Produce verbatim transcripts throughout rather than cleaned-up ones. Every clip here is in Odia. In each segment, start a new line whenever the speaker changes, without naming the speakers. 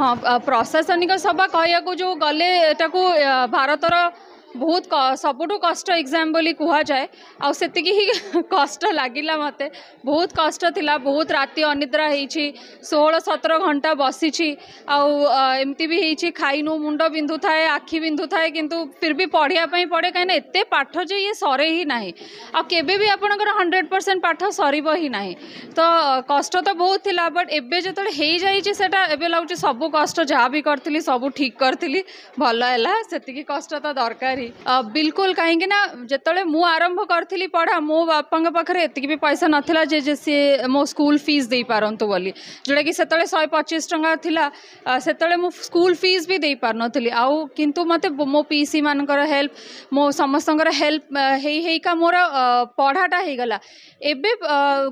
ହଁ, ପ୍ରଶାସନିକ ସେବା କହିବାକୁ ଯେଉଁ ଗଲେ ଏଟାକୁ ଭାରତର ବହୁତ ସବୁଠୁ କଷ୍ଟ ଏକ୍ଜାମ୍ ବୋଲି କୁହାଯାଏ। ଆଉ ସେତିକି ହିଁ କଷ୍ଟ ଲାଗିଲା ମୋତେ, ବହୁତ କଷ୍ଟ ଥିଲା, ବହୁତ ରାତି ଅନିଦ୍ରା ହେଇଛି, ଷୋହଳ ସତର ଘଣ୍ଟା ବସିଛି। ଆଉ ଏମିତି ବି ହେଇଛି ଖାଇନୁ, ମୁଣ୍ଡ ବିନ୍ଧୁଥାଏ, ଆଖି ବିନ୍ଧୁଥାଏ, କିନ୍ତୁ ଫିର୍ ବି ପଢ଼ିବା ପାଇଁ ପଡ଼େ, କାହିଁକିନା ଏତେ ପାଠ ଯେ ଇଏ ସରେ ହିଁ ନାହିଁ। ଆଉ କେବେ ବି ଆପଣଙ୍କର ହଣ୍ଡ୍ରେଡ଼ ପରସେଣ୍ଟ ପାଠ ସରିବ ହିଁ ନାହିଁ। ତ କଷ୍ଟ ତ ବହୁତ ଥିଲା, ବଟ୍ ଏବେ ଯେତେବେଳେ ହେଇଯାଇଛି ସେଇଟା ଏବେ ଲାଗୁଛି ସବୁ କଷ୍ଟ ଯାହା ବି କରିଥିଲି ସବୁ ଠିକ୍ କରିଥିଲି, ଭଲ ହେଲା, ସେତିକି କଷ୍ଟ ତ ଦରକାର। ବିଲକୁଲ, କାହିଁକି ନା ଯେତେବେଳେ ମୁଁ ଆରମ୍ଭ କରିଥିଲି ପଢ଼ା, ମୋ ବାପାଙ୍କ ପାଖରେ ଏତିକି ବି ପଇସା ନଥିଲା ଯେ ଯେ ସିଏ ମୋ ସ୍କୁଲ ଫିସ୍ ଦେଇପାରନ୍ତୁ ବୋଲି, ଯେଉଁଟାକି ସେତେବେଳେ ଶହେ ପଚିଶ ଟଙ୍କା ଥିଲା। ସେତେବେଳେ ମୁଁ ସ୍କୁଲ ଫିସ୍ ବି ଦେଇପାରୁନଥିଲି। ଆଉ କିନ୍ତୁ ମୋତେ ମୋ ପିଇସି ମାନଙ୍କର ହେଲ୍ପ, ମୋ ସମସ୍ତଙ୍କର ହେଲ୍ପ ହେଇ ହେଇକା ମୋର ପଢ଼ାଟା ହେଇଗଲା। ଏବେ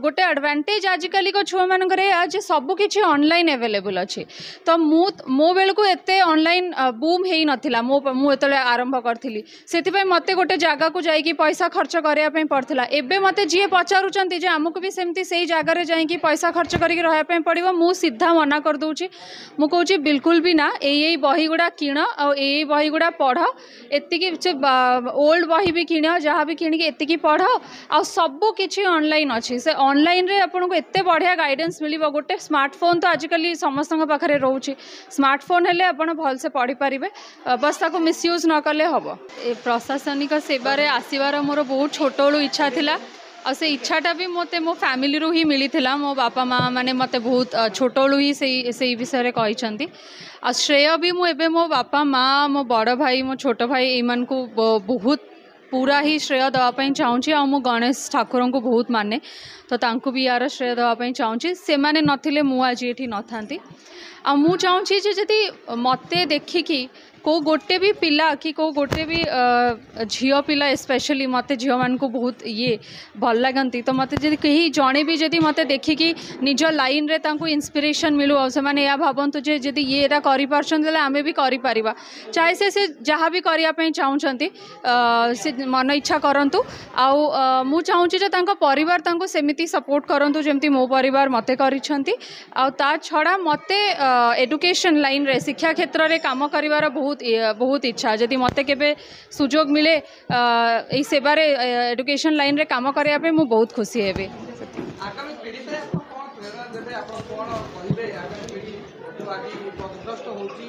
ଗୋଟେ ଆଡ଼ଭାଣ୍ଟେଜ୍ ଆଜିକାଲିକା ଛୁଆମାନଙ୍କର ଏଇଆ ଯେ ସବୁ କିଛି ଅନଲାଇନ୍ ଆଭେଲେବୁଲ୍ ଅଛି। ତ ମୁଁ ମୋ ବେଳକୁ ଏତେ ଅନଲାଇନ୍ ବୁମ୍ ହେଇନଥିଲା, ମୋ ମୁଁ ଯେତେବେଳେ ଆରମ୍ଭ କରିଥିଲି, ସେଥିପାଇଁ ମୋତେ ଗୋଟେ ଜାଗାକୁ ଯାଇକି ପଇସା ଖର୍ଚ୍ଚ କରିବା ପାଇଁ ପଡ଼ିଥିଲା। ଏବେ ମୋତେ ଯିଏ ପଚାରୁଛନ୍ତି ଯେ ଆମକୁ ବି ସେମିତି ସେଇ ଜାଗାରେ ଯାଇକି ପଇସା ଖର୍ଚ୍ଚ କରିକି ରହିବା ପାଇଁ ପଡ଼ିବ, ମୁଁ ସିଧା ମନା କରିଦେଉଛି। ମୁଁ କହୁଛି ବିଲକୁଲ ବି ନା, ଏଇ ଏଇ ବହି ଗୁଡ଼ା କିଣ ଆଉ ଏଇ ଏଇ ବହି ଗୁଡ଼ା ପଢ଼, ଏତିକି ସେ ଓଲ୍ଡ ବହି ବି କିଣ, ଯାହା ବି କିଣିକି ଏତିକି ପଢ଼। ଆଉ ସବୁ କିଛି ଅନଲାଇନ୍ ଅଛି, ସେ ଅନଲାଇନ୍ରେ ଆପଣଙ୍କୁ ଏତେ ବଢ଼ିଆ ଗାଇଡ଼ାନ୍ସ ମିଳିବ। ଗୋଟେ ସ୍ମାର୍ଟଫୋନ୍ ତ ଆଜିକାଲି ସମସ୍ତଙ୍କ ପାଖରେ ରହୁଛି, ସ୍ମାର୍ଟଫୋନ୍ ହେଲେ ଆପଣ ଭଲସେ ପଢ଼ିପାରିବେ, ବାସ୍ ତାକୁ ମିସୟୁଜ୍ ନ କଲେ ହେବ। ଏ ପ୍ରଶାସନିକ ସେବାରେ ଆସିବାର ମୋର ବହୁତ ଛୋଟବେଳୁ ଇଚ୍ଛା ଥିଲା, ଆଉ ସେ ଇଚ୍ଛାଟା ବି ମୋତେ ମୋ ଫ୍ୟାମିଲିରୁ ହିଁ ମିଳିଥିଲା। ମୋ ବାପା ମା ମାନେ ମୋତେ ବହୁତ ଛୋଟବେଳୁ ହିଁ ସେଇ ସେଇ ବିଷୟରେ କହିଛନ୍ତି। ଆଉ ଶ୍ରେୟ ବି ମୁଁ ଏବେ ମୋ ବାପା ମା, ମୋ ବଡ଼ ଭାଇ, ମୋ ଛୋଟ ଭାଇ ଏଇମାନଙ୍କୁ ବହୁତ ପୁରା ହିଁ ଶ୍ରେୟ ଦେବା ପାଇଁ ଚାହୁଁଛି। ଆଉ ମୁଁ ଗଣେଶ ଠାକୁରଙ୍କୁ ବହୁତ ମାନେ, ତ ତାଙ୍କୁ ବି ୟାର ଶ୍ରେୟ ଦେବା ପାଇଁ ଚାହୁଁଛି। ସେମାନେ ନଥିଲେ ମୁଁ ଆଜି ଏଠି ନଥାନ୍ତି। ଆଉ ମୁଁ ଚାହୁଁଛି ଯେ ଯଦି ମୋତେ ଦେଖିକି କେଉଁ ଗୋଟେ ବି ପିଲା କି କେଉଁ ଗୋଟେ ବି ଝିଅ ପିଲା, ସ୍ପେଶାଲି ମୋତେ ଝିଅମାନଙ୍କୁ ବହୁତ ଇଏ ଭଲ ଲାଗନ୍ତି, ତ ମୋତେ ଯଦି କେହି ଜଣେ ବି ଯଦି ମୋତେ ଦେଖିକି ନିଜ ଲାଇନ୍ରେ ତାଙ୍କୁ ଇନ୍ସପିରେସନ୍ ମିଳୁ, ଆଉ ସେମାନେ ଏହା ଭାବନ୍ତୁ ଯେ ଯଦି ଇଏ ଏଇଟା କରିପାରୁଛନ୍ତି ତାହେଲେ ଆମେ ବି କରିପାରିବା, ଚାହେ ସେ ସେ ଯାହା ବି କରିବା ପାଇଁ ଚାହୁଁଛନ୍ତି ସେ ମନ ଇଚ୍ଛା କରନ୍ତୁ। ଆଉ ମୁଁ ଚାହୁଁଛି ଯେ ତାଙ୍କ ପରିବାର ତାଙ୍କୁ ସେମିତି ସପୋର୍ଟ କରନ୍ତୁ ଯେମିତି ମୋ ପରିବାର ମୋତେ କରିଛନ୍ତି। ଆଉ ତା ଛଡ଼ା ମୋତେ ଏଡୁକେସନ୍ ଲାଇନ୍ରେ, ଶିକ୍ଷା କ୍ଷେତ୍ରରେ କାମ କରିବାର ବହୁତ ବହୁତ ଇଚ୍ଛା। ଯଦି ମୋତେ କେବେ ସୁଯୋଗ ମିଳେ ଏଇ ସେବାରେ, ଏଡୁକେସନ୍ ଲାଇନ୍ରେ କାମ କରିବା ପାଇଁ, ମୁଁ ବହୁତ ଖୁସି ହେବି।
ଆଗାମୀ ପିଢ଼ି ପାଇଁ ଆପଣ କ'ଣ ପ୍ରେରଣା ଦେବେ, ଆପଣ କ'ଣ କହିବେ? ଆଗାମୀ ପିଢ଼ି ଯେଉଁ ଆଜି ପଥଭ୍ରଷ୍ଟ ହେଉଛି,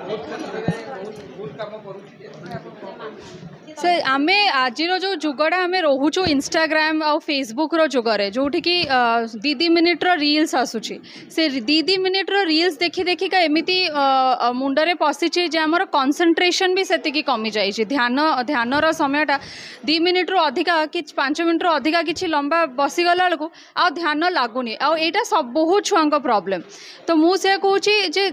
ବହୁତ କ୍ଷେତ୍ରରେ ବହୁତ ଭୁଲ କାମ କରୁଛି, ଏଥିପାଇଁ ଆପଣ କ'ଣ କହିବେ?
ସେ ଆମେ ଆଜିର ଯେଉଁ ଯୁଗଟା ଆମେ ରହୁଛୁ ଇନଷ୍ଟାଗ୍ରାମ ଆଉ ଫେସବୁକ୍ର ଯୁଗରେ, ଯେଉଁଠିକି ଦୁଇ ଦୁଇ ମିନିଟ୍ର ରିଲ୍ସ ଆସୁଛି, ସେ ଦୁଇ ଦୁଇ ମିନିଟ୍ର ରିଲ୍ସ ଦେଖି ଦେଖିକା ଏମିତି ମୁଣ୍ଡରେ ପଶିଛି ଯେ ଆମର କନସେନ୍ଟ୍ରେସନ୍ ବି ସେତିକି କମିଯାଇଛି। ଧ୍ୟାନ ଧ୍ୟାନର ସମୟଟା ଦୁଇ ମିନିଟ୍ରୁ ଅଧିକା କି ପାଞ୍ଚ ମିନିଟ୍ରୁ ଅଧିକା କିଛି ଲମ୍ବା ବସିଗଲା ବେଳକୁ ଆଉ ଧ୍ୟାନ ଲାଗୁନି। ଆଉ ଏଇଟା ସବୁ ବହୁତ ଛୁଆଙ୍କ ପ୍ରୋବ୍ଲେମ୍। ତ ମୁଁ ସେୟା କହୁଛି ଯେ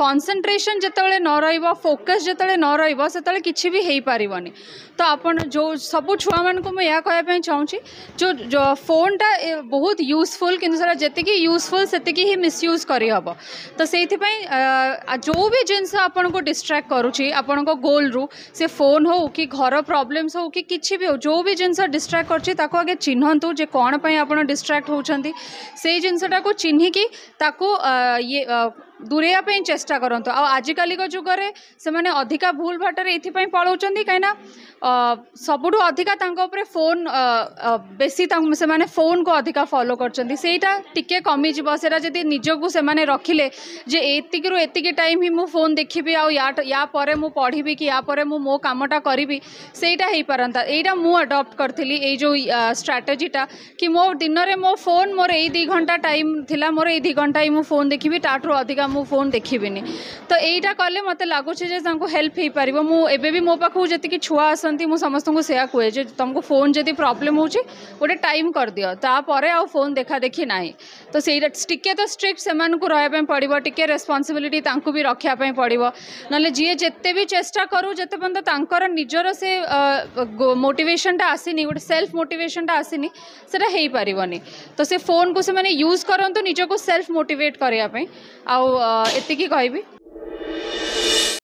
କନସେନ୍ଟ୍ରେସନ୍ ଯେତେବେଳେ ନ ରହିବ, ଫୋକସ୍ ଯେତେବେଳେ ନ ରହିବ, ସେତେବେଳେ କିଛି ବି ହେଇପାରିବନି। ତ ଆପଣ ଯେଉଁ ସବୁ ଛୁଆମାନଙ୍କୁ ମୁଁ ଏହା କହିବା ପାଇଁ ଚାହୁଁଛି, ଯେଉଁ ଫୋନ୍ଟା ବହୁତ ୟୁଜଫୁଲ୍, କିନ୍ତୁ ସେଟା ଯେତିକି ୟୁଜଫୁଲ୍ ସେତିକି ହିଁ ମିସୟୁଜ୍ କରିହେବ। ତ ସେଇଥିପାଇଁ ଯେଉଁ ବି ଜିନିଷ ଆପଣଙ୍କୁ ଡିଷ୍ଟ୍ରାକ୍ଟ କରୁଛି ଆପଣଙ୍କ ଗୋଲ୍ରୁ, ସେ ଫୋନ୍ ହଉ କି ଘର ପ୍ରୋବ୍ଲେମ୍ସ ହଉ କି କିଛି ବି ହଉ, ଯେଉଁ ବି ଜିନିଷ ଡିଷ୍ଟ୍ରାକ୍ଟ କରୁଛି ତାକୁ ଆଗେ ଚିହ୍ନନ୍ତୁ ଯେ କ'ଣ ପାଇଁ ଆପଣ ଡିଷ୍ଟ୍ରାକ୍ଟ ହେଉଛନ୍ତି। ସେଇ ଜିନିଷଟାକୁ ଚିହ୍ନିକି ତାକୁ ଇଏ ଦୂରେଇବା ପାଇଁ ଚେଷ୍ଟା କରନ୍ତୁ। ଆଉ ଆଜିକାଲିକା ଯୁଗରେ ସେମାନେ ଅଧିକା ଭୁଲ ବାଟରେ ଏଇଥିପାଇଁ ପଳାଉଛନ୍ତି କାହିଁକିନା ସବୁଠୁ ଅଧିକା ତାଙ୍କ ଉପରେ ଫୋନ୍ ବେଶୀ, ତାଙ୍କୁ ସେମାନେ ଫୋନ୍କୁ ଅଧିକା ଫଲୋ କରୁଛନ୍ତି। ସେଇଟା ଟିକେ କମିଯିବ। ସେଇଟା ଯଦି ନିଜକୁ ସେମାନେ ରଖିଲେ ଯେ ଏତିକିରୁ ଏତିକି ଟାଇମ୍ ହିଁ ମୁଁ ଫୋନ୍ ଦେଖିବି, ଆଉ ୟା ୟା ପରେ ମୁଁ ପଢ଼ିବି କି ୟା ପରେ ମୁଁ ମୋ କାମଟା କରିବି, ସେଇଟା ହେଇପାରନ୍ତା। ଏଇଟା ମୁଁ ଆଡ଼ପ୍ଟ କରିଥିଲି ଏଇ ଯେଉଁ ଷ୍ଟ୍ରାଟେଜିଟା କି ମୋ ଦିନରେ ମୋ ଫୋନ୍ ମୋର ଏଇ ଦୁଇ ଘଣ୍ଟା ଟାଇମ୍ ଥିଲା, ମୋର ଏଇ ଦୁଇ ଘଣ୍ଟା ହିଁ ମୁଁ ଫୋନ୍ ଦେଖିବି, ତାଠୁ ଅଧିକା ମୁଁ ଫୋନ୍ ଦେଖିବିନି। ତ ଏଇଟା କଲେ ମୋତେ ଲାଗୁଛି ଯେ ତାଙ୍କୁ ହେଲ୍ପ ହେଇପାରିବ। ମୁଁ ଏବେ ବି ମୋ ପାଖକୁ ଯେତିକି ଛୁଆ ଆସନ୍ତି ମୁଁ ସମସ୍ତଙ୍କୁ ସେୟା କୁହେ ଯେ ତୁମକୁ ଫୋନ୍ ଯଦି ପ୍ରୋବ୍ଲେମ୍ ହେଉଛି ଗୋଟେ ଟାଇମ୍ କରିଦିଅ, ତାପରେ ଆଉ ଫୋନ୍ ଦେଖା ଦେଖି ନାହିଁ। ତ ସେଇଟା ଟିକେ ତ ଷ୍ଟ୍ରିକ୍ଟ ସେମାନଙ୍କୁ ରହିବା ପାଇଁ ପଡ଼ିବ, ଟିକେ ରେସ୍ପନ୍ସିବିଲିଟି ତାଙ୍କୁ ବି ରଖିବା ପାଇଁ ପଡ଼ିବ। ନହେଲେ ଯିଏ ଯେତେ ବି ଚେଷ୍ଟା କରୁ, ଯେତେ ପର୍ଯ୍ୟନ୍ତ ତାଙ୍କର ନିଜର ସେ ମୋଟିଭେସନଟା ଆସିନି, ଗୋଟେ ସେଲ୍ଫ ମୋଟିଭେସନଟା ଆସିନି, ସେଇଟା ହେଇପାରିବନି। ତ ସେ ଫୋନ୍କୁ ସେମାନେ ୟୁଜ୍ କରନ୍ତୁ ନିଜକୁ ସେଲ୍ଫ ମୋଟିଭେଟ୍ କରିବା ପାଇଁ। ଆଉ ଏତିକି କହିବି।